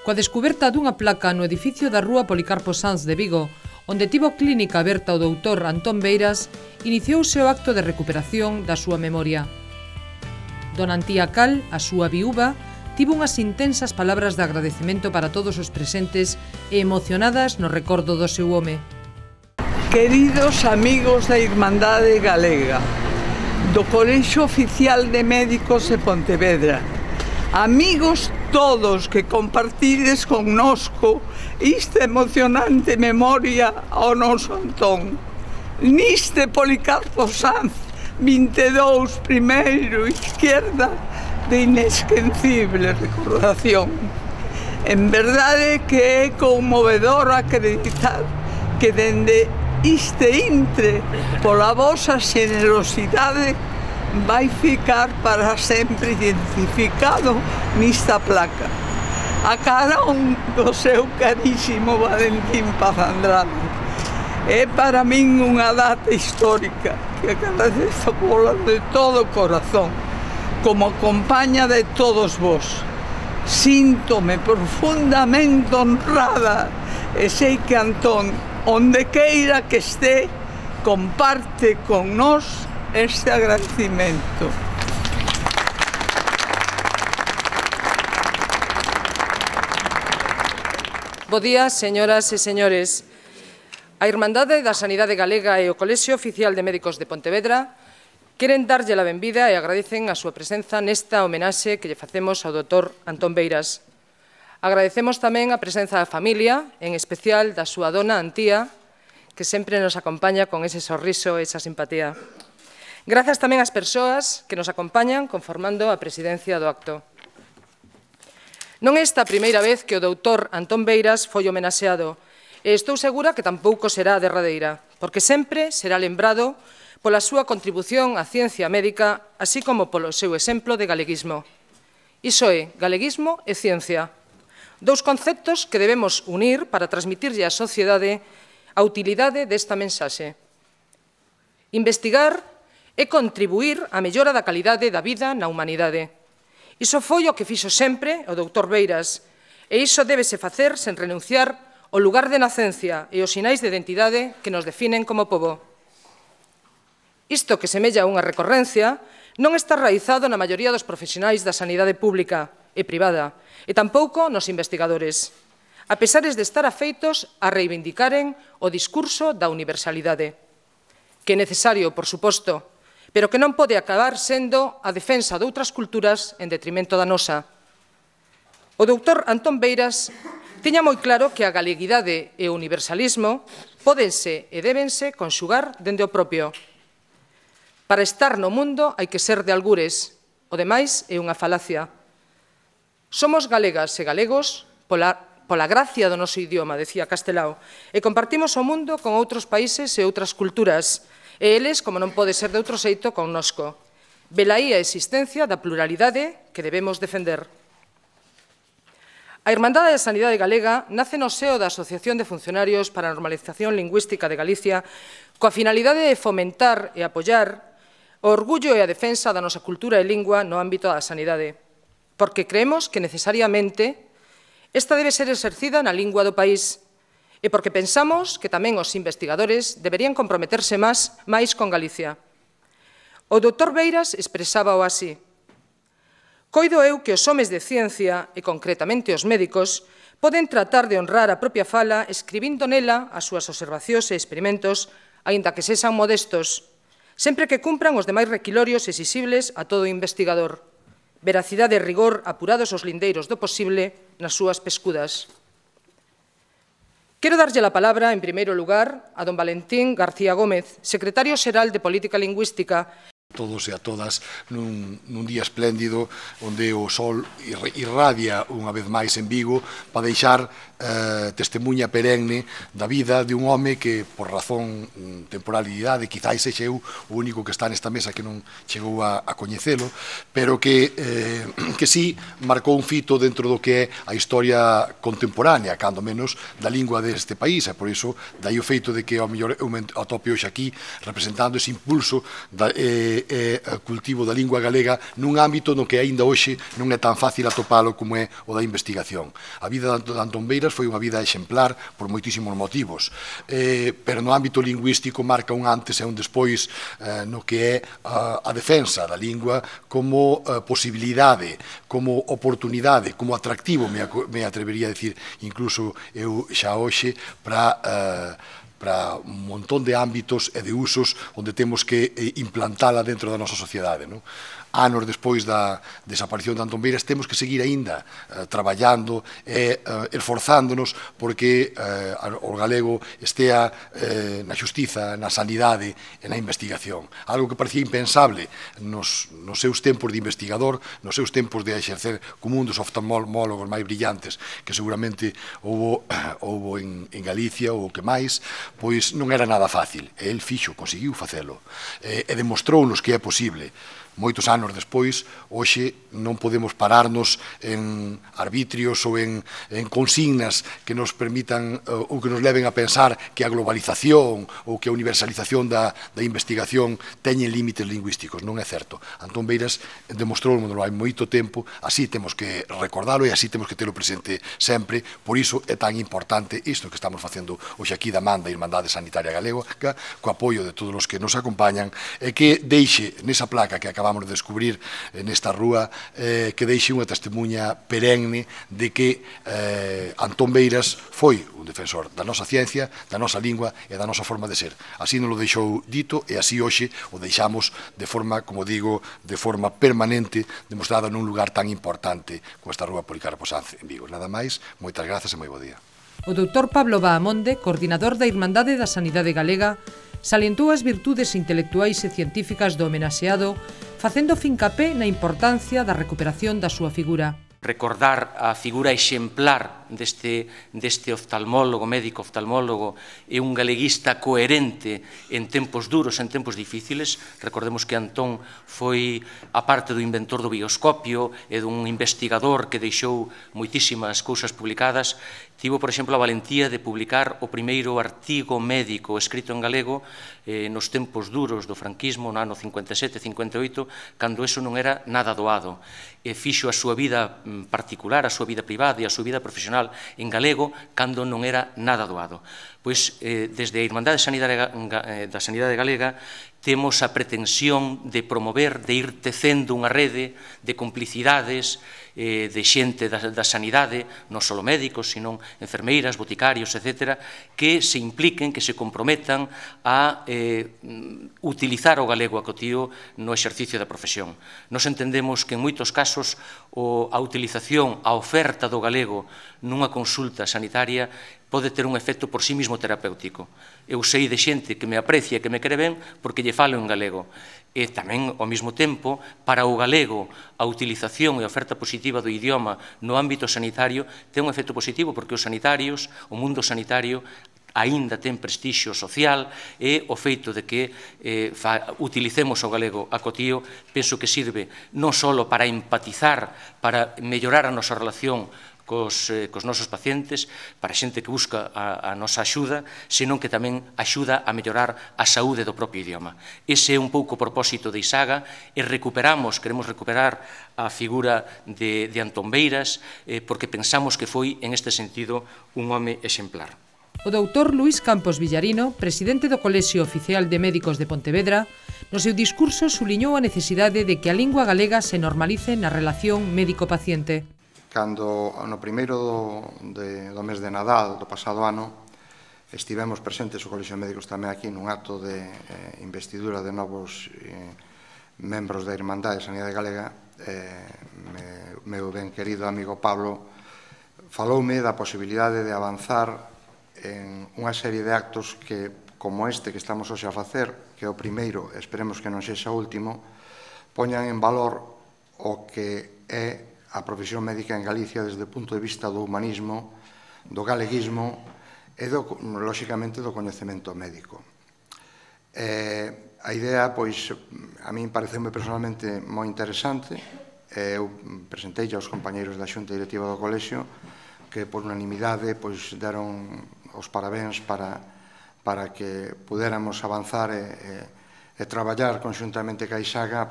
coa descuberta dunha placa no edificio da rúa Policarpo Sanz de Vigo, onde tivo clínica aberta o doutor Antón Beiras, iniciouse o acto de recuperación da súa memoria. Dona Antía Cal, a súa viúva, tivo unhas intensas palabras de agradecemento para todos os presentes e emocionadas no recordo do seu home. Queridos amigos da Irmandade Galega, do Colexio Oficial de Médicos de Pontevedra, amigos todos que compartides connosco esta emocionante memoria ao noso Antón, niste Policarpo Sanz 22, primeiro, izquierda, de inesquecible recordación. En verdade que é conmovedor acreditar que dende este intre, pola vosa xenerosidade, vai ficar para sempre identificado nesta placa, a carón do seu carísimo Valentín Paz Andrade. É para min unha data histórica que agradezo de todo o corazón, como compaña de todos vos. Síntome profundamente honrada e sei que Antón, onde queira que este, comparte con nós este agradecimento. Bo día, señoras e señores. A Irmandade da Sanidade Galega e o Colexio Oficial de Médicos de Pontevedra queren darlle a benvida e agradecen a súa presenza nesta homenaxe que lle facemos ao doutor Antón Beiras. Agradecemos tamén a presenza da familia, en especial da súa dona Antía, que sempre nos acompaña con ese sorriso e esa simpatía. Grazas tamén ás persoas que nos acompañan conformando a presidencia do acto. Non é esta a primeira vez que o doutor Antón Beiras foi homenaxeado, e estou segura que tampouco será a derradeira, porque sempre será lembrado pola súa contribución á ciencia médica, así como polo seu exemplo de galeguismo. Iso é, galeguismo e ciencia. Dous conceptos que debemos unir para transmitirlle á sociedade a utilidade desta mensaxe. Investigar é contribuir á mellora da calidade da vida na humanidade. Iso foi o que fixo sempre o doutor Beiras, e iso débese facer sen renunciar ao lugar de nacencia e os sinais de identidade que nos definen como pobo. Isto que semella unha recorrencia non está raizado na maioría dos profesionais da sanidade pública e privada, e tampouco nos investigadores, a pesares de estar afeitos a reivindicaren o discurso da universalidade, que é necesario, por suposto, pero que non pode acabar sendo a defensa de outras culturas en detrimento da nosa. O doutor Antón Beiras tiña moi claro que a galeguidade e o universalismo pódense e débense conxugar dende o propio. Para estar no mundo hai que ser de algures, o demais é unha falacia. Somos galegas e galegos pola gracia do noso idioma, decía Castelao, e compartimos o mundo con outros países e outras culturas, e eles, como non pode ser de outro xeito, connosco. Velaí a existencia da pluralidade que debemos defender. A Irmandade da Sanidade Galega nace no seo da Asociación de Funcionarios para a Normalización Lingüística de Galicia coa finalidade de fomentar e apoiar o orgullo e a defensa da nosa cultura e lingua no ámbito da sanidade, porque creemos que necesariamente esta debe ser exercida na lingua do país e porque pensamos que tamén os investigadores deberían comprometerse máis con Galicia. O doutor Beiras expresábao así: coido eu que os homes de ciencia, e concretamente os médicos, poden tratar de honrar a propia fala escribindo nela as súas observacións e experimentos, aínda que sexan modestos, sempre que cumpran os demais requilorios exixibles a todo investigador. Veracidade e rigor apurados os lindeiros do posible nas súas pescudas. Quero darlle a palabra, en primeiro lugar, a don Valentín García Gómez, secretario xeral de Política Lingüística. Todos e a todas nun día espléndido onde o sol irradia unha vez máis en Vigo para deixar testemunha perenne da vida de un home que, por razón temporalidade, quizáis sexe eu o único que está nesta mesa que non chegou a coñecelo, pero que sí marcou un fito dentro do que é a historia contemporánea, cando menos da lingua deste país, e por iso dai o feito de que ao mellor eu me atope hoxe aquí representando ese impulso e cultivo da lingua galega nun ámbito no que aínda hoxe non é tan fácil atopalo como é o da investigación. A vida de Antón Beiras foi unha vida exemplar por moitísimos motivos, pero no ámbito lingüístico marca un antes e un despois no que é a defensa da lingua como posibilidade, como oportunidade, como atractivo, me atrevería a decir, incluso eu xa hoxe, para un montón de ámbitos e de usos onde temos que implantala dentro da nosa sociedade. Anos despois da desaparición de Antón Beiras temos que seguir aínda traballando e esforzándonos porque o galego estea na xustiza, na sanidade e na investigación. Algo que parecía impensable nos seus tempos de investigador, nos seus tempos de exercer como un dos oftalmólogos máis brillantes que seguramente houbo en Galicia ou que máis, pois non era nada fácil. El conseguiu facelo e demostrounos que é posible. Moitos anos despois, hoxe non podemos pararnos en arbitrios ou en consignas que nos permitan ou que nos leven a pensar que a globalización ou que a universalización da investigación teñen límites lingüísticos. Non é certo. Antón Beiras demostrou hai moito tempo, así temos que recordalo e así temos que telo presente sempre. Por iso é tan importante isto que estamos facendo hoxe aquí da man da Irmandade Sanitaria Galega, co apoio de todos os que nos acompañan, e que deixe nesa placa que acabamos de descubrir nesta rúa, que deixe unha testemunha perenne de que Antón Beiras foi un defensor da nosa ciencia, da nosa lingua e da nosa forma de ser. Así nos lo deixou dito e así hoxe o deixamos de forma, como digo, de forma permanente, demostrada nun lugar tan importante como esta rúa Policarpo Sanz en Vigo. Nada máis, moitas grazas e moi bo día. O doutor Pablo Bahamonde, coordinador da Irmandade da Sanidade Galega, salientou as virtudes intelectuais e científicas do homenaxeado, facendo fincapé na importancia da recuperación da súa figura. Recordar a figura exemplar deste oftalmólogo, médico oftalmólogo, e un galeguista coherente en tempos duros, en tempos difíciles. Recordemos que Antón foi, a parte do inventor do bioscopio e dun investigador que deixou moitísimas cousas publicadas, tivo, por exemplo, a valentía de publicar o primeiro artigo médico escrito en galego nos tempos duros do franquismo, no ano 57-58, cando eso non era nada doado. Fixo a súa vida particular, a súa vida privada e a súa vida profesional en galego, cando non era nada doado. Pois, desde a Irmandade da Sanidade Galega, temos a pretensión de promover, de ir tecendo unha rede de complicidades, de xente da sanidade, non só médicos, sino enfermeiras, boticarios, etc., que se impliquen, que se comprometan a utilizar o galego acotío no exercicio da profesión. Nos entendemos que en moitos casos a utilización, a oferta do galego nunha consulta sanitaria pode ter un efecto por sí mismo terapéutico. Eu sei de xente que me aprecia e que me quere ben porque lle falo en galego. E tamén, ao mesmo tempo, para o galego, a utilización e a oferta positiva do idioma no ámbito sanitario ten un efecto positivo porque os sanitarios, o mundo sanitario, aínda ten prestixio social e o feito de que utilicemos o galego acotío, penso que sirve non só para empatizar, para mellorar a nosa relación cos nosos pacientes, para a xente que busca a nosa axuda, senón que tamén axuda a mellorar a saúde do propio idioma. Ese é un pouco o propósito de Isaga e queremos recuperar a figura de Antón Beiras porque pensamos que foi, en este sentido, un home exemplar. O doutor Luís Campos Villarino, presidente do Colexio Oficial de Médicos de Pontevedra, no seu discurso suliñou a necesidade de que a lingua galega se normalice na relación médico-paciente. Cando no primeiro do mes de Nadal do pasado ano estivemos presentes o Colexio de Médicos tamén aquí nun acto de investidura de novos membros da Irmandade de Sanidade Galega, meu ben querido amigo Pablo faloume da posibilidade de avanzar en unha serie de actos que, como este que estamos hoxe a facer, que é o primeiro, esperemos que non sexa o último, poñan en valor o que é a profesión médica en Galicia desde o punto de vista do humanismo, do galeguismo e, lóxicamente, do coñecemento médico. A idea, pois, a min pareceume personalmente moi interesante. Eu presentei aos compañeiros da Xunta Directiva do Colexio que, por unanimidade, pois, deron os parabéns para que pudéramos avanzar e traballar conxuntamente ca Isaga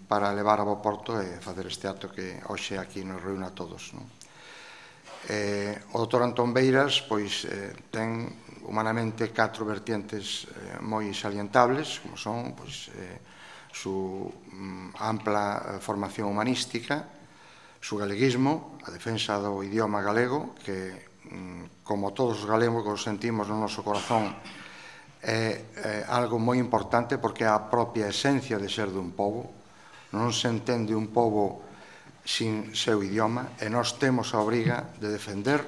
para levar a bo porto e facer este acto que hoxe aquí nos reúne a todos. O doutor Antón Beiras ten humanamente 4 vertientes moi salientables, como son su ampla formación humanística, su galeguismo, a defensa do idioma galego, que, como todos os galegos sentimos no noso corazón, é algo moi importante porque é a propia esencia de ser dun pobo. Non se entende un pobo sin seu idioma e nós temos a obriga de defender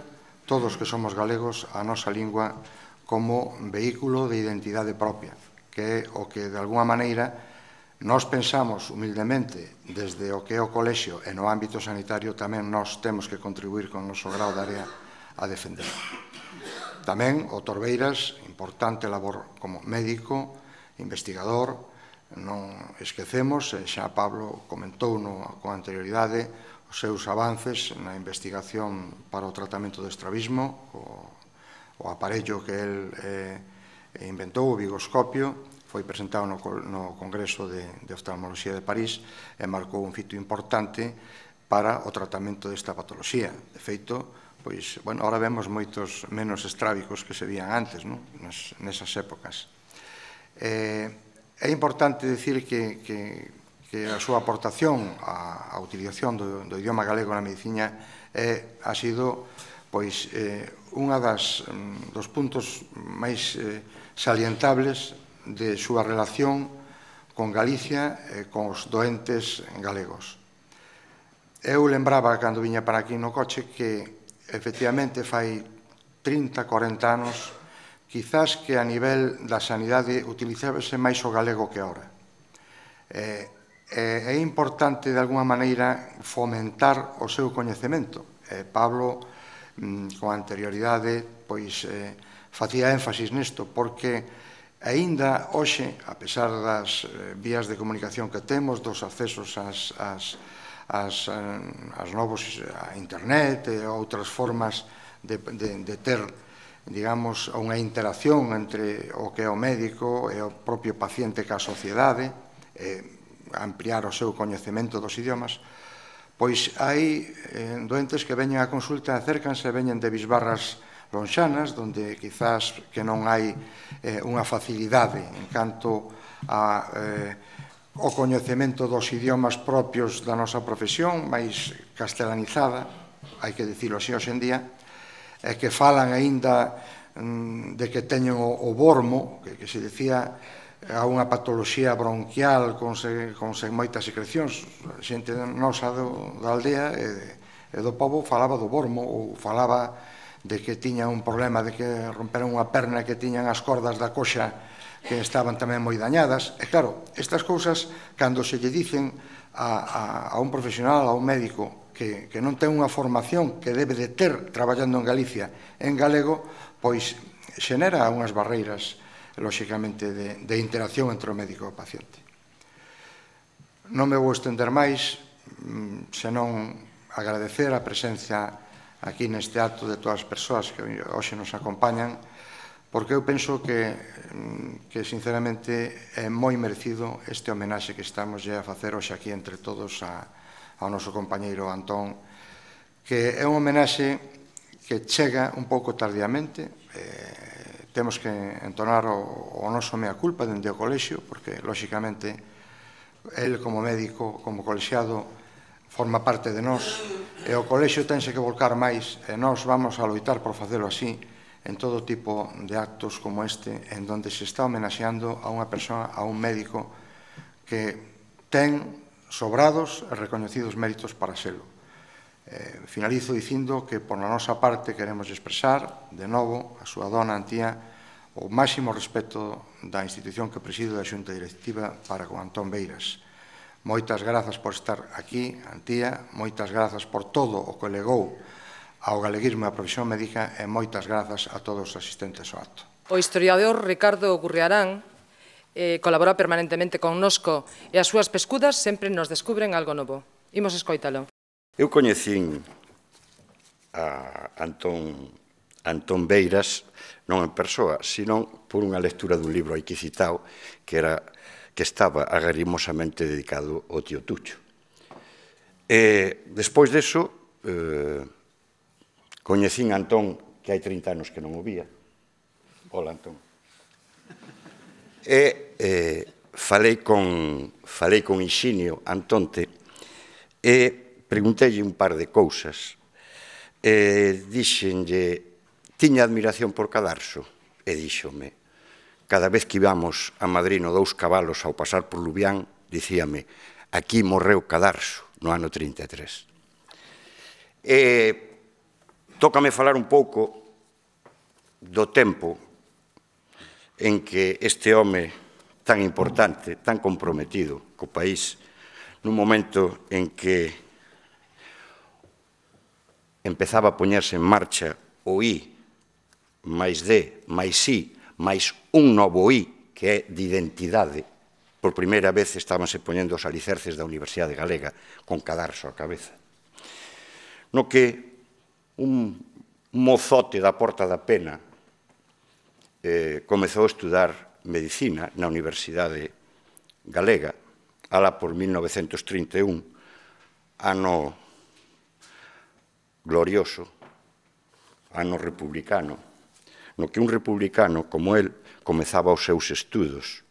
todos que somos galegos a nosa lingua como vehículo de identidade propia, que é o que, de alguna maneira, nós pensamos humildemente desde o que é o colexio e no ámbito sanitario tamén nós temos que contribuir con o noso grau de área a defender. Tamén o Dr. Beiras, importante labor como médico, investigador. Non esquecemos, xa Pablo comentou con anterioridade, os seus avances na investigación para o tratamento do estrabismo, o aparello que el inventou, o bigoscopio, foi presentado no Congreso de Oftalmoloxía de París e marcou un fito importante para o tratamento desta patoloxía. De feito, ahora vemos moitos menos estrábicos que se vían antes, nesas épocas. É importante dicir que a súa aportación á utilización do idioma galego na medicina ha sido unha dos puntos máis salientables de súa relación con Galicia e con os doentes galegos. Eu lembraba, cando viña para aquí no coche, que efectivamente fai 30-40 anos quizás que a nivel da sanidade utilizábase máis o galego que ahora. É importante, de alguna maneira, fomentar o seu coñecemento. Pablo, con anterioridade, facía énfasis nisto, porque aínda hoxe, a pesar das vías de comunicación que temos, dos accesos as novos a internet e outras formas de ter, digamos, unha interacción entre o que é o médico e o propio paciente ca sociedade, ampliar o seu coñecemento dos idiomas, pois hai doentes que veñen a consulta, acércanse, veñen de bisbarras lonxanas, donde quizás que non hai unha facilidade en canto ao coñecemento dos idiomas propios da nosa profesión, máis castelanizada, hai que dicilo así hoxe en día, e que falan aínda de que teñen o bormo, que se dicía a unha patoloxía bronquial con moitas secrecións. A xente nosa da aldea e do pobo falaba do bormo, ou falaba de que tiña un problema de que romperon unha perna e que tiñan as cordas da coxa que estaban tamén moi dañadas. E claro, estas cousas, cando se lle dicen a un profesional, a un médico, que non ten unha formación que debe de ter traballando en Galicia en galego, pois xenera unhas barreiras, lóxicamente, de interacción entre o médico e o paciente. Non me vou estender máis, senón agradecer a presencia aquí neste acto de todas as persoas que hoxe nos acompañan, porque eu penso que sinceramente é moi merecido este homenaxe que estamos a facer hoxe aquí entre todos ao noso compañeiro Antón, que é un homenaxe que chega un pouco tardíamente. Temos que entonar o noso mea culpa dende o colexio, porque, lóxicamente, el como médico, como colexiado, forma parte de nós, e o colexio tense que volcar máis, e nós vamos a loitar por facelo así, en todo tipo de actos como este, en donde se está homenaxeando a unha persoa, a un médico, que ten sobrados e recoñecidos méritos para selo. Finalizo dicindo que, por na nosa parte, queremos expresar, de novo, a súa dona Antía, o máximo respeto da institución que preside da Xunta Directiva para con Antón Beiras. Moitas grazas por estar aquí, Antía, moitas grazas por todo o que legou ao galeguismo e á profesión médica e moitas grazas a todos os asistentes ao acto. O historiador Ricardo Gurriarán colabora permanentemente connosco e as súas pescudas sempre nos descubren algo novo. Imos escoitalo. Eu coñecín a Antón Beiras non en persoa, senón por unha lectura dun libro aquí citado que estaba agarrimosamente dedicado ao tío Tucho. Despois deso, coñecín a Antón, que hai 30 anos que non o vía. Hola, Antón. Falei con Ixinio Antonte e preguntélle un par de cousas. Dixenlle, tiña admiración por Cadarso, e díxome, cada vez que íbamos a Madrid no Dous Cabalos ao pasar por Lubián, dicíame, aquí morreu Cadarso, no ano 33. Tócame falar un pouco do tempo en que este home tan importante, tan comprometido co país, nun momento en que empezaba a poñerse en marcha o I, máis D, máis I, máis un novo I, que é de identidade. Por primeira vez estábanse poñendo os alicerces da Universidade Galega, con Cadarso á cabeza. No que un mozote da Porta da Pena comezou a estudar medicina na Universidade Galega, alá por 1931, ano glorioso, ano republicano, no que un republicano como el comezaba os seus estudos,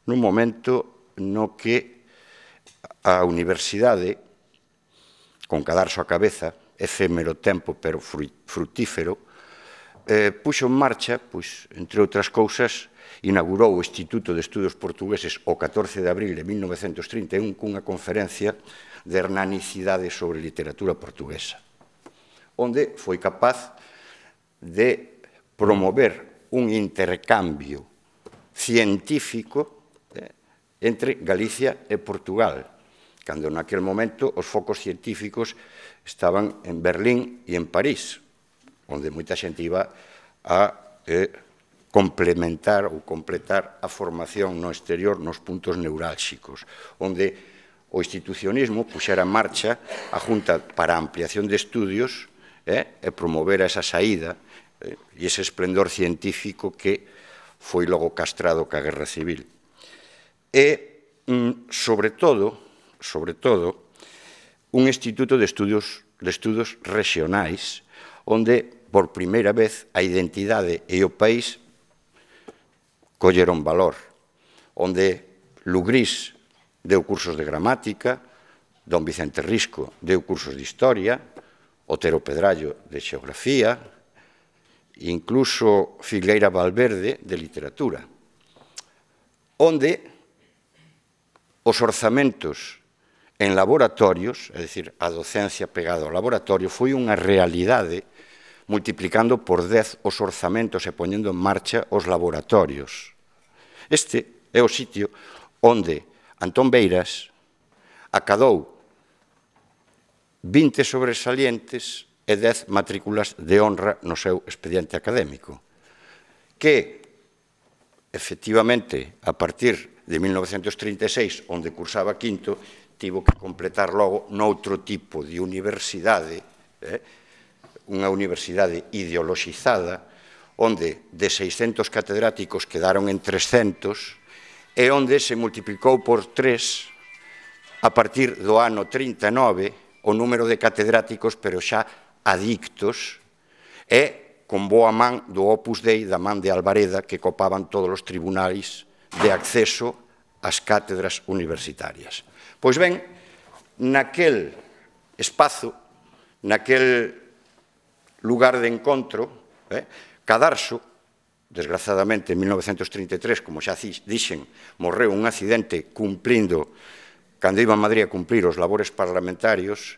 nun momento no que a universidade, con Cadarso á cabeza, efémero tempo pero frutífero, puxo en marcha, entre outras cousas, inaugurou o Instituto de Estudos Portugueses o 14 de abril de 1931 cunha conferencia de hernanicidade sobre literatura portuguesa, onde foi capaz de promover un intercambio científico entre Galicia e Portugal, cando naquel momento os focos científicos estaban en Berlín e en París, onde moita xente iba a complementar ou completar a formación no exterior nos puntos neurálxicos, onde o institucionismo puxera en marcha a Junta para a Ampliación de Estudios e promovera esa saída e ese esplendor científico que foi logo castrado ca Guerra Civil. E, sobre todo, un instituto de estudos regionais, onde, por primeira vez, a identidade e o país colleron valor, onde Lugrís deu cursos de gramática, don Vicente Risco deu cursos de historia, Otero Pedrallo de xeografía, incluso Filgueira Valverde de literatura, onde os orzamentos en laboratorios, é dicir, a docencia pegada ao laboratorio, foi unha realidade multiplicando por 10 os orzamentos e poñendo en marcha os laboratorios. Este é o sitio onde Antón Beiras acadou 20 sobresalientes e 10 matrículas de honra no seu expediente académico, que, efectivamente, a partir de 1936, onde cursaba quinto, tivo que completar logo noutro tipo de universidade, unha universidade ideoloxizada, onde de 600 catedráticos quedaron en 300, e onde se multiplicou por 3 a partir do ano 39 o número de catedráticos, pero xa adictos, e con boa man do Opus Dei, da man de Alvareda, que copaban todos os tribunais de acceso ás cátedras universitarias. Pois ben, naquel espazo, naquel lugar de encontro, Cadarso, desgraciadamente en 1933, como xa dixen, morreu un accidente cumplindo, cando iba a Madrid a cumplir os labores parlamentarios,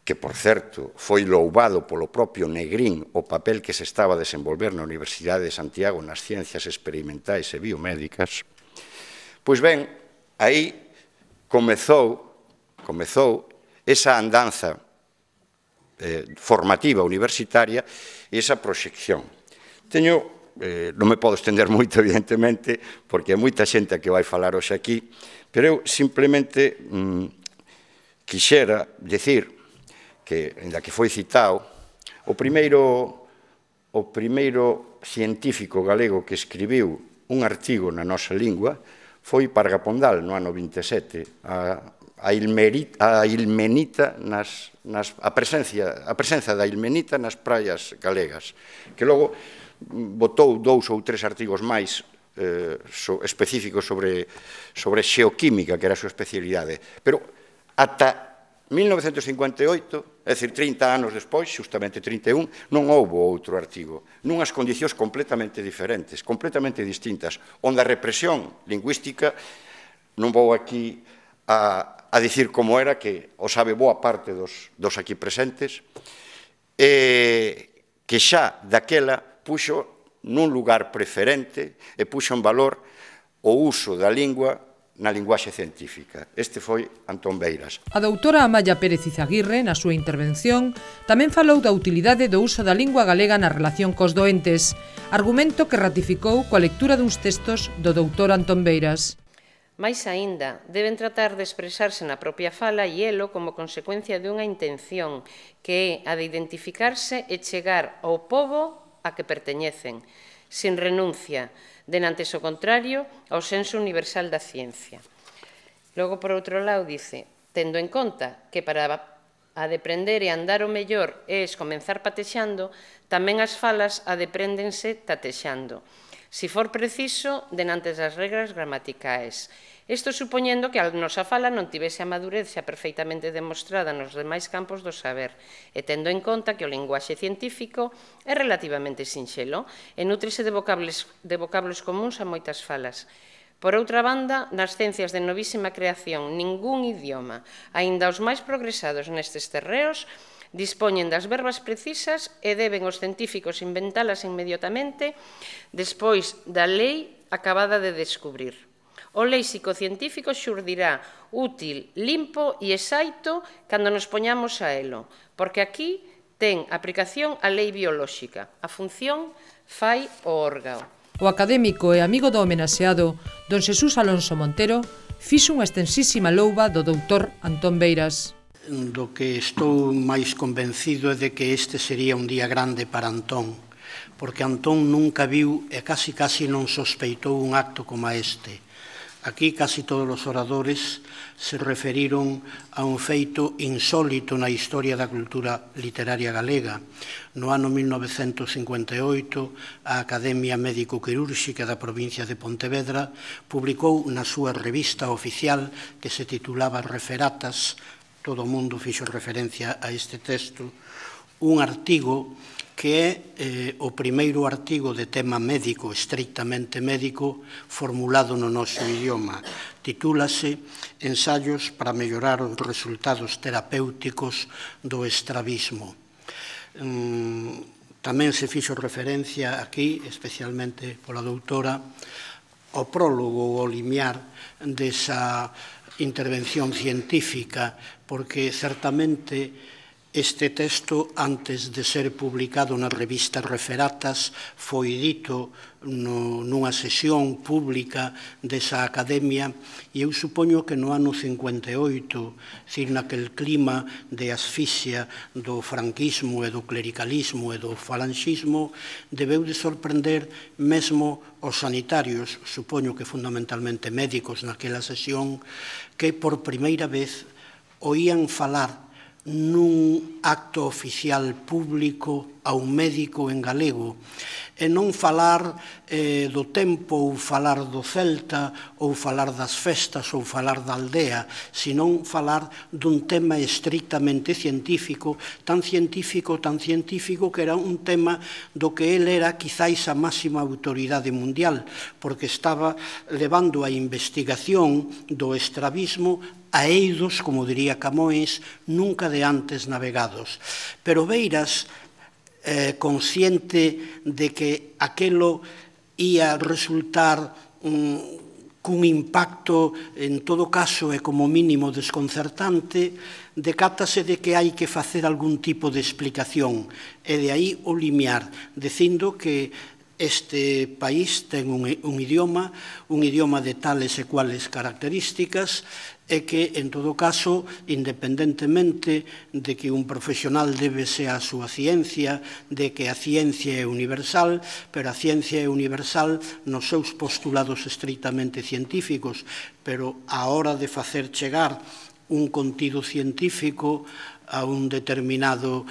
que, por certo, foi louvado polo propio Negrín o papel que se estaba a desenvolver na Universidade de Santiago nas ciencias experimentais e biomédicas. Pois ben, aí comezou esa andanza formativa universitaria esa proxección. Non me podo estender moito, evidentemente, porque hai moita xente a que vai falar hoxe aquí, pero eu simplemente quixera dicir que, ainda que foi citado, o primeiro científico galego que escribiu un artigo na nosa lingua foi Parga Pondal, no ano 27, a presenza da ilmenita nas praias galegas, que logo botou 2 ou 3 artigos máis específicos sobre xeoquímica, que era a súa especialidade. Pero ata 1958, é dicir, 30 anos despois, justamente 31, non houve outro artigo, nunhas condicións completamente diferentes, completamente distintas, onde a represión lingüística, non vou aquí a dicir como era, que o sabe boa parte dos aquí presentes, que xa daquela puxo nun lugar preferente e puxo en valor o uso da lingua na linguaxe científica. Este foi Antón Beiras. A doutora Amaya Pérez Izaguirre, na súa intervención, tamén falou da utilidade do uso da lingua galega na relación cos doentes, argumento que ratificou coa lectura duns textos do doutor Antón Beiras. Mais aínda, deben tratar de expresarse na propia fala e elo como consecuencia dunha intención que é a de identificarse e chegar ao pobo a que perteñecen, sin renuncia, denantes o contrario ao senso universal da ciencia. Logo, por outro lado, dice, tendo en conta que para a deprender e andar o mellor é comenzar patexando, tamén as falas a depréndense tatexando, si for preciso, denantes das regras gramaticais. Isto supoñendo que a nosa fala non tivese a madurez xa perfeitamente demostrada nos demais campos do saber, e tendo en conta que o linguaxe científico é relativamente sinxelo e nútrese de vocablos comuns a moitas falas. Por outra banda, nas ciencias de novísima creación, ningún idioma, aínda os máis progresados nestes terreos, dispoñen das verbas precisas e deben os científicos inventalas inmediatamente despois da lei acabada de descubrir. O léxico científico xurdirá útil, limpo e exaito cando nos poñamos a elo, porque aquí ten aplicación a lei biolóxica. A función fai o órgao. O académico e amigo do homenaxeado, don Xesús Alonso Montero, fixo unha extensísima louba do doutor Antón Beiras. Do que estou máis convencido é de que este sería un día grande para Antón, porque Antón nunca viu e casi non sospeitou un acto como este. Aquí casi todos os oradores se referiron a un feito insólito na historia da cultura literaria galega. No ano 1958, a Academia Médico-Quirúrxica da provincia de Pontevedra publicou na súa revista oficial, que se titulaba Referatas, todo o mundo fixo referencia a este texto, un artigo que é o primeiro artigo de tema médico, estrictamente médico, formulado no noso idioma. Titúlase Ensaios para mellorar os resultados terapéuticos do estrabismo. Tamén se fixo referencia aquí, especialmente pola doutora, ao prólogo, ao limiar desa intervención científica, porque certamente este texto, antes de ser publicado na revista Referatas, foi dito nunha sesión pública desa academia, e eu supoño que no ano 58, dicir, naquel clima de asfixia do franquismo e do clericalismo e do falanxismo, debeu de sorprender mesmo os sanitarios, supoño que fundamentalmente médicos naquela sesión, que por primeira vez oían falar nun acto oficial público a un médico en galego, e non falar do tempo ou falar do Celta ou falar das festas ou falar da aldea, senón falar dun tema estrictamente científico, tan científico que era un tema do que el era quizáis a máxima autoridade mundial, porque estaba levando a investigación do estrabismo a eidos, como diría Camões, nunca de antes navegados. Pero Beiras, consciente de que aquelo ia resultar cun impacto, en todo caso, é como mínimo desconcertante, decátase de que hai que facer algún tipo de explicación, e de aí o limiar, dicindo que este país ten un idioma de tales e cuales características, e que, en todo caso, independentemente de que un profesional débese á súa ciencia, de que a ciencia é universal, pero a ciencia é universal nos seus postulados estritamente científicos, pero á hora de facer chegar un contido científico a un determinado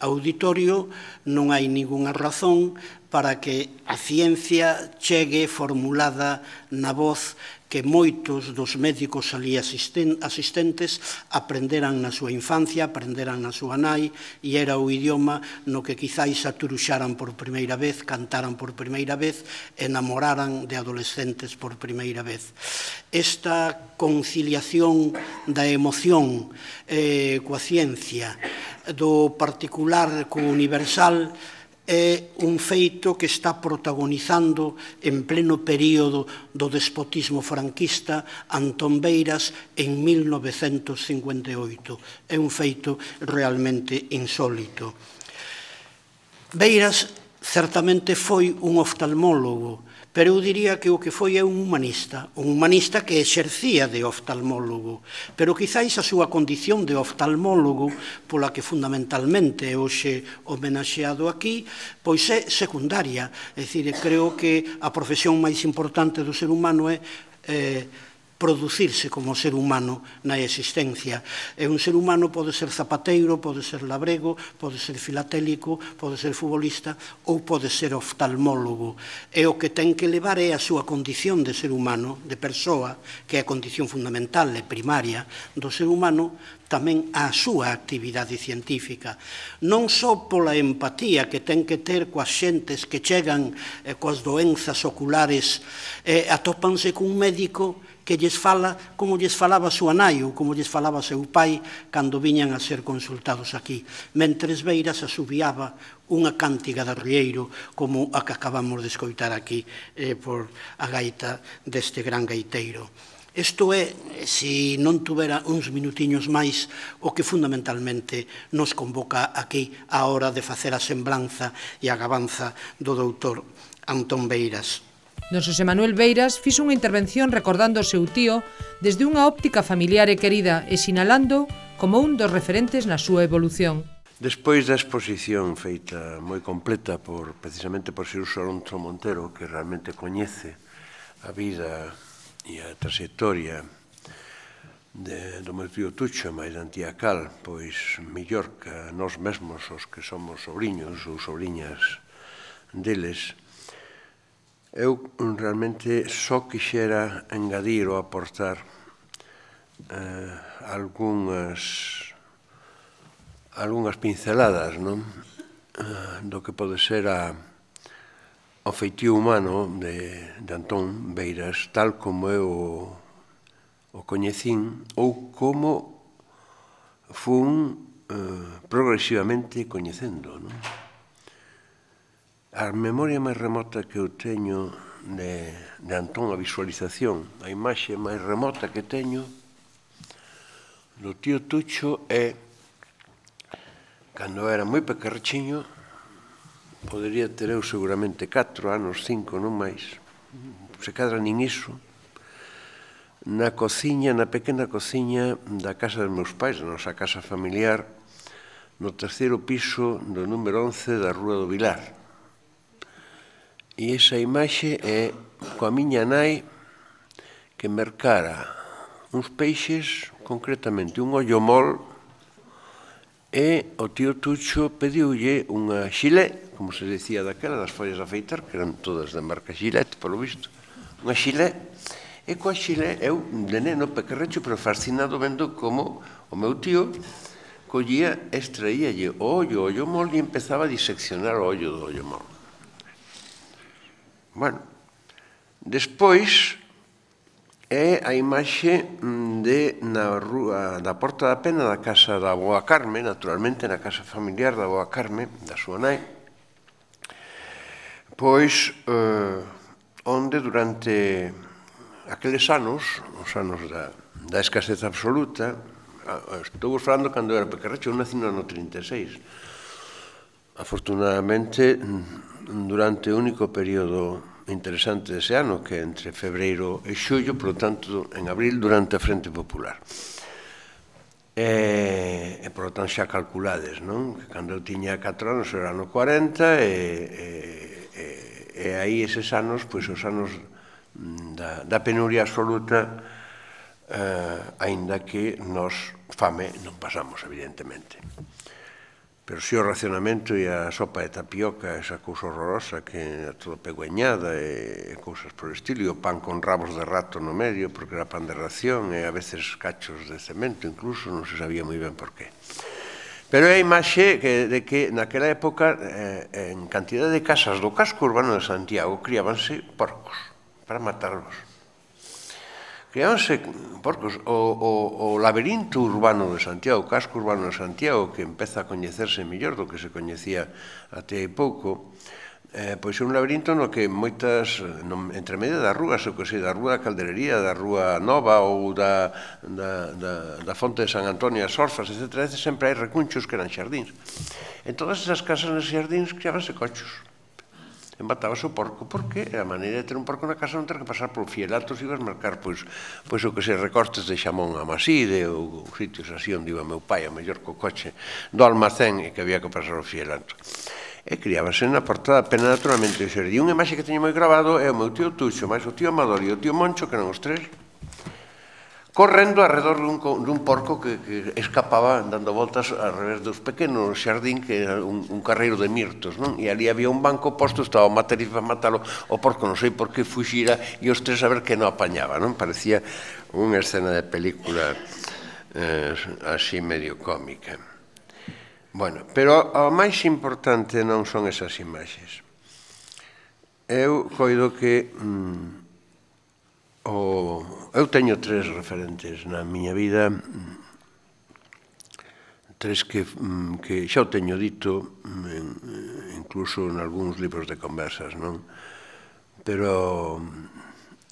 auditorio, non hai ningunha razón para que a ciencia chegue formulada na voz que moitos dos médicos ali asistentes aprenderan na súa infancia, aprenderan na súa nai, e era o idioma no que quizáis aturuxaran por primeira vez, cantaran por primeira vez, enamoraran de adolescentes por primeira vez. Esta conciliación da emoción coa ciencia, do particular co universal, é un feito que está protagonizando en pleno período do despotismo franquista Antón Beiras en 1958. É un feito realmente insólito. Beiras certamente foi un oftalmólogo, pero eu diría que o que foi é un humanista que exercía de oftalmólogo, pero quizáis a súa condición de oftalmólogo, pola que fundamentalmente é hoxe homenaxeado aquí, pois é secundaria. É dicir, creo que a profesión máis importante do ser humano é producirse como ser humano na existencia. E un ser humano pode ser zapateiro, pode ser labrego, pode ser filatélico, pode ser futbolista ou pode ser oftalmólogo. E o que ten que levar é a súa condición de ser humano, de persoa, que é a condición fundamental e primaria do ser humano, tamén a súa actividade científica. Non só pola empatía que ten que ter coas xentes que chegan coas doenzas oculares e atópanse cun médico que lles fala como lles falaba a súa nai ou como lles falaba seu pai cando viñan a ser consultados aquí, mentres Beiras asubiaba unha cántiga de arrieiro como a que acabamos de escoitar aquí por a gaita deste gran gaiteiro. Isto é, se non tuvera uns minutiños máis, o que fundamentalmente nos convoca aquí a hora de facer a semblanza e a gabanza do doutor Antón Beiras. Don Xosé Manuel Beiras fixo unha intervención recordando o seu tío desde unha óptica familiar e querida e sinalando como un dos referentes na súa evolución. Despois da exposición feita moi completa precisamente por Xerús Alonso Montero, que realmente coñece a vida e a trayectoria do meu tío Tucho, máis da antía Cal, pois mellor que nós mesmos os que somos sobriños ou sobriñas deles, eu realmente só quixera engadir ou aportar algunhas pinceladas do que pode ser o feitio humano de Antón Beiras, tal como eu o coñecín ou como fun progresivamente coñecendo. A memoria máis remota que eu teño de Antón, a visualización, a imaxe máis remota que teño do tío Tucho é cando era moi pequerchiño, podería ter eu seguramente 4 anos, 5, non máis, se cadra nin iso, na cociña, na pequena cociña da casa dos meus pais, da nosa casa familiar, no terceiro piso do número 11 da Rúa do Vilar. E esa imaxe é coa miña nai que mercara uns peixes, concretamente un ollo mol, e o tío Tucho pediulle unha xilé, como se decía daquela, das follas de afeitar, que eran todas da marca Gillette, polo visto, unha xilé, e coa xilé, eu, de neno pequerrecho, pero fascinado vendo como o meu tío collía, extraíalle o ollo mol e empezaba a diseccionar o ollo do ollo mol. Bueno, despois é a imaxe na rúa da Porta da Pena da casa da avoa Carme, naturalmente na casa familiar da avoa Carme, da súa nai, pois onde durante aqueles anos, os anos da escasez absoluta, estou falando cando era pequerrecho, eu nací no ano 36. Afortunadamente, durante o único período interesante dese ano, que é entre febreiro e xullo, por lo tanto, en abril, durante a Frente Popular. E, por lo tanto, xa calculades, non? Que cando eu tiña 4 anos era ano 40 e aí eses anos, pois os anos da penuria absoluta, aínda que nos fame non pasamos, evidentemente. Pero si o racionamento e a sopa de tapioca, esa cousa horrorosa que era todo pegueñada e cousas por estilo, e o pan con rabos de rato no medio, porque era pan de ración, e a veces cachos de cemento, incluso, non se sabía moi ben por qué. Pero é a imaxe de que naquela época, en cantidad de casas do casco urbano de Santiago, criábanse porcos para matarlos. Criábanse porcos. O laberinto urbano de Santiago, o casco urbano de Santiago, que empeza a coñecerse mellor do que se coñecía até hai pouco, pois é un laberinto no que moitas, entre medio das rúas, o que sei, da Rúa da Calderería, da Rúa Nova ou da Fonte de San Antonio, as Orfas, etc., sempre hai recunchos que eran xardíns. En todas esas casas nos xardíns criábanse cochos. Embatábase o porco, porque a maneira de ter un porco na casa non ter que pasar por fielatos e ibas marcar, pois o que se recortes de xamón a Maside ou sitios así onde iba meu pai, a mellor co coche do almacén e que había que pasar o fielato. E criábase na portada pena naturalmente o xardín. Unha imaxe que teño moi grabado é o meu tío Tuxo, máis o tío Amador e o tío Moncho, que eran os tres, correndo alrededor dun porco que escapaba dando voltas ao revés dos pequenos xardín, que era un carreiro de mirtos, non? E ali había un banco posto, estaba o material para matalo, o porco non sei por que fuxira e os tres a ver que non apañaba, non? Parecía unha escena de película así medio cómica. Bueno, pero o máis importante non son esas imaxes. Eu coido que eu teño tres referentes na miña vida, tres que xa o teño dito, incluso en algúns libros de conversas, non? Pero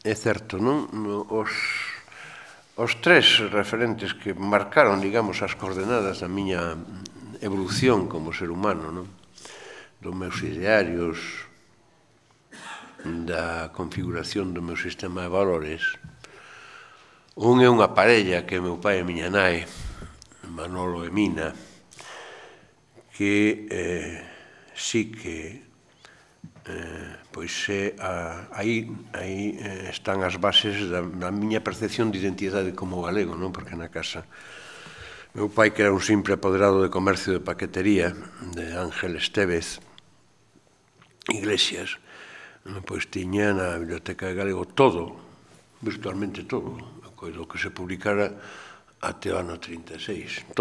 é certo, non? Os tres referentes que marcaron, digamos, as coordenadas da miña evolución como ser humano, non? Dos meus idearios, da configuración do meu sistema de valores. Un é unha parella que é meu pai e miña nai, Manolo e Mina, que sí que pois aí están as bases da miña percepción de identidade como galego, non? Porque na casa meu pai, que era un simple apoderado de comercio de paquetería de Ángel Estévez Iglesias, pois tiña na Biblioteca de Galego todo, virtualmente todo, coido que se publicara até o ano 36,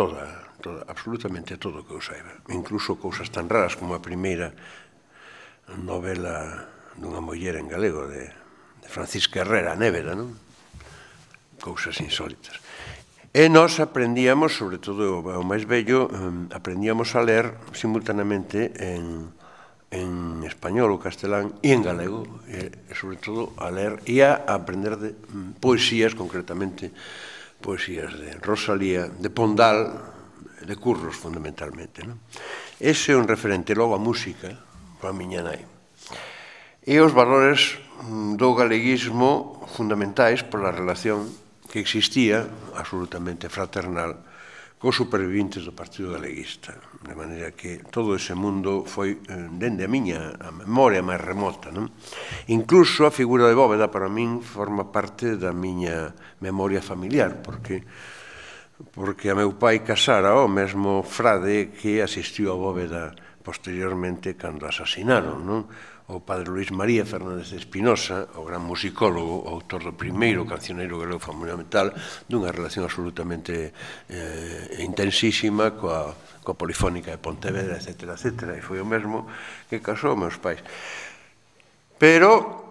absolutamente todo o que eu saiba, incluso cousas tan raras como a primeira novela dunha muller en galego de Francisca Herrera, Néveda, non? Cousas insólitas. E nós aprendíamos, sobre todo o máis vello, aprendíamos a ler simultaneamente en español ou castelán e en galego, e sobre todo a ler e a aprender de poesías, concretamente poesías de Rosalía, de Pondal, de Curros, fundamentalmente. Ese é un referente. Logo a música, para a miña nai. E os valores do galeguismo fundamentais pola relación que existía, absolutamente fraternal, cos superviventes do Partido Galeguista. De maneira que todo ese mundo foi dende a miña memoria máis remota. Incluso a figura de Bóveda, para min, forma parte da miña memoria familiar, porque a meu pai casara o mesmo frade que asistiu a Bóveda posteriormente cando asasinaron, non? O padre Luis María Fernández de Espinosa, o gran musicólogo, o autor do primeiro cancioneiro galego fundamental, dunha relación absolutamente intensísima coa Polifónica de Pontevedra, etc., etc., e foi o mesmo que casou meus pais. Pero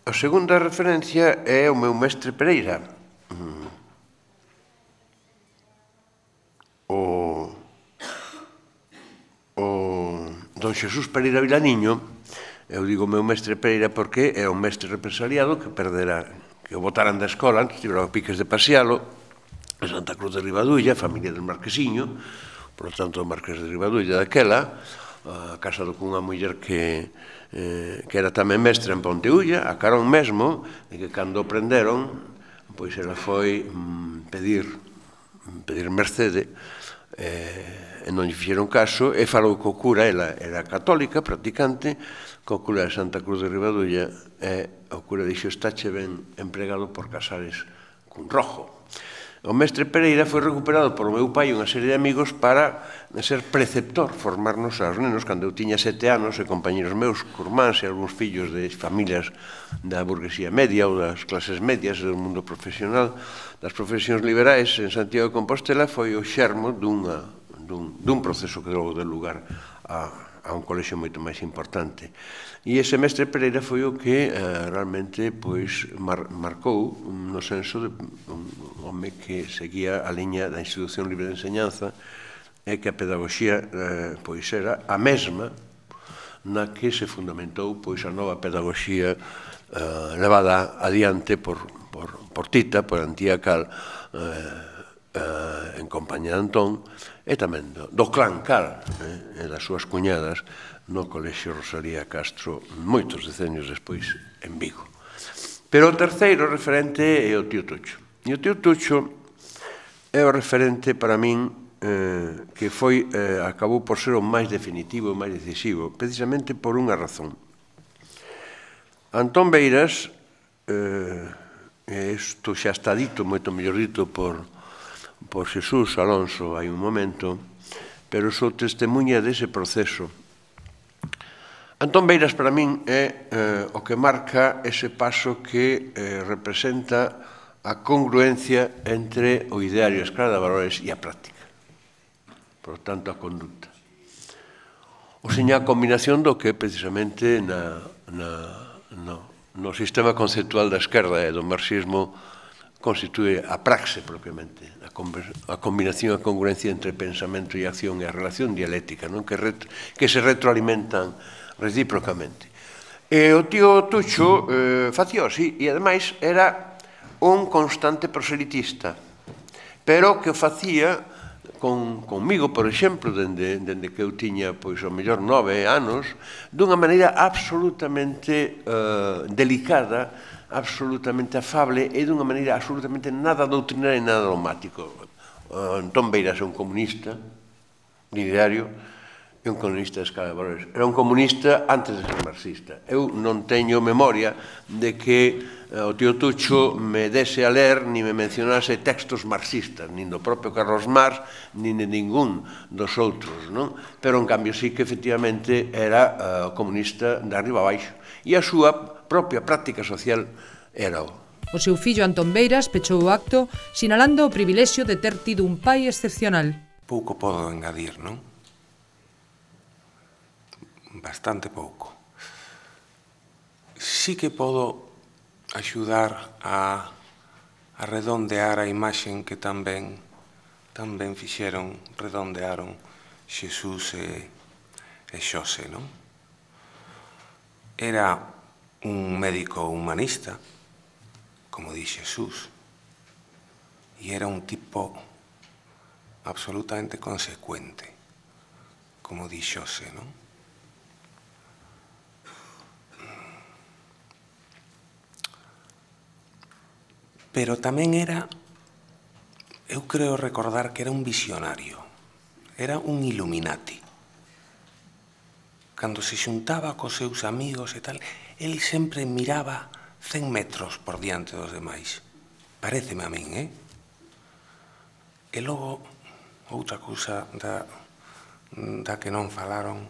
a segunda referencia é o meu mestre Pereira, o don Xesús Pereira Vilaniño, Eu digo meu mestre Pereira porque é un mestre represaliado que perdera, que o botaran da escola, antes tiveron piques de pasealo, en Santa Cruz de Ribadulla, familia del Marquesiño, por lo tanto, o Marqués de Ribadulla daquela, casado cunha muller que era tamén mestra en Ponteulla, a Carón mesmo, e que cando o prenderon, pois ela foi pedir mercede, e non lle fixeron caso, e falou co cura, ela era católica, practicante, co cura de Santa Cruz de Ribadulla, e o cura dixo, estáche ben empregado por casares cun rojo. O mestre Pereira foi recuperado por o meu pai e unha serie de amigos para ser preceptor, formarnos aos nenos. Cando eu tiña 7 anos, e compañeros meus, curmáns e algúns fillos de familias da burguesía media ou das clases medias do mundo profesional, das profesións liberais en Santiago de Compostela, foi o xermo dun proceso que deu lugar a un colexio moito máis importante. E ese mestre Pereira foi o que realmente marcou no senso de un home que seguía a liña da institución libre de enseñanza e que a pedagogía era a mesma na que se fundamentou a nova pedagogía levada adiante por Tita, por Antía Cal, en compañía de Antón, e tamén do clan Cal e das súas cuñadas no Colexio Rosalía Castro moitos decenios despois en Vigo. Pero o terceiro referente é o tío Tucho. E o tío Tucho é o referente para min que acabou por ser o máis definitivo e máis decisivo, precisamente por unha razón. Antón Beiras, isto xa está dito, moito mellor dito por Xesús Alonso hai un momento, pero sou testemunha dese proceso. Antón Beiras para min é o que marca ese paso que representa a congruencia entre o ideario, a escala de valores e a práctica. Por tanto, a conducta. O seña a combinación do que precisamente no sistema conceptual da esquerda e do marxismo constitúe a praxe propiamente, a combinación e a congruencia entre pensamento e acción e a relación dialéctica, que se retroalimentan recíprocamente. E o tío Tucho facía así, e ademais era un constante proselitista, pero que o facía conmigo, por exemplo, dende que eu tiña, pois, ao mellor 9 anos, dunha maneira absolutamente delicada, absolutamente afable e dunha maneira absolutamente nada doutrinaria e nada dogmático. Antón Beiras é un comunista ideario e un comunista de escala de valores. Era un comunista antes de ser marxista. Eu non teño memoria de que o tío Tucho me dese a ler ni me mencionase textos marxistas, nin do propio Carlos Marx, nin de ningún dos outros, non? Pero, en cambio, sí que efectivamente era comunista de arriba a baixo. E a súa propia práctica social era o. O seu fillo Antón Beiras pechou o acto sinalando o privilexio de ter tido un pai excepcional. Pouco podo engadir, non? Bastante pouco. Sí que podo axudar a redondear a imaxen que tamén redondearon Xesús e Xose, non? Era un médico humanista, como di Xesús, e era un tipo absolutamente consecuente, como di Xose, non? Pero tamén era, eu creo recordar que era un visionario, era un Illuminati. Cando se xuntaba cos seus amigos e tal, el sempre miraba 100 metros por diante dos demais. Paréceme a min, E logo, outra cousa da que non falaron,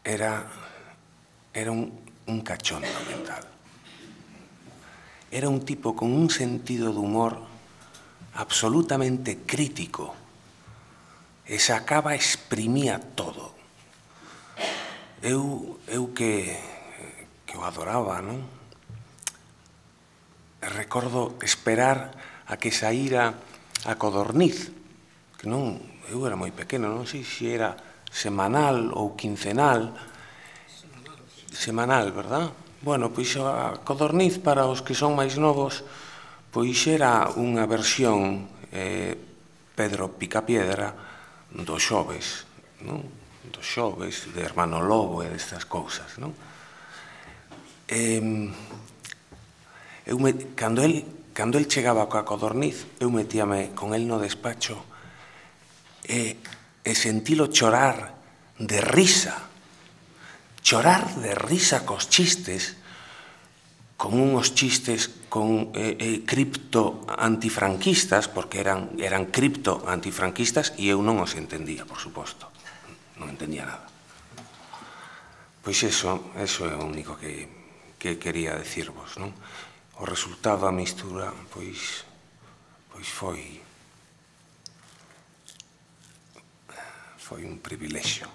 era un cachondo mental. Era un tipo con un sentido de humor absolutamente crítico e sacaba, exprimía todo. Eu que o adoraba, non? Recordo esperar a que saíra a Codorniz, que non, eu era moi pequeno, non sei se era semanal ou quincenal, semanal, verdad? Bueno, pois a Codorniz, para os que son máis novos, pois era unha versión Pedro Picapiedra dos xoves, non? Dos xoves, de Hermano Lobo e destas cousas, non? Cando el chegaba coa Codorniz, eu metíame con el no despacho e sentilo chorar de risa cos chistes, con uns chistes con cripto antifranquistas, porque eran cripto antifranquistas, e eu non os entendía, por suposto. Non entendía nada. Pois eso é o único que quería decirvos, non? O resultado da mistura, pois foi un privilexio.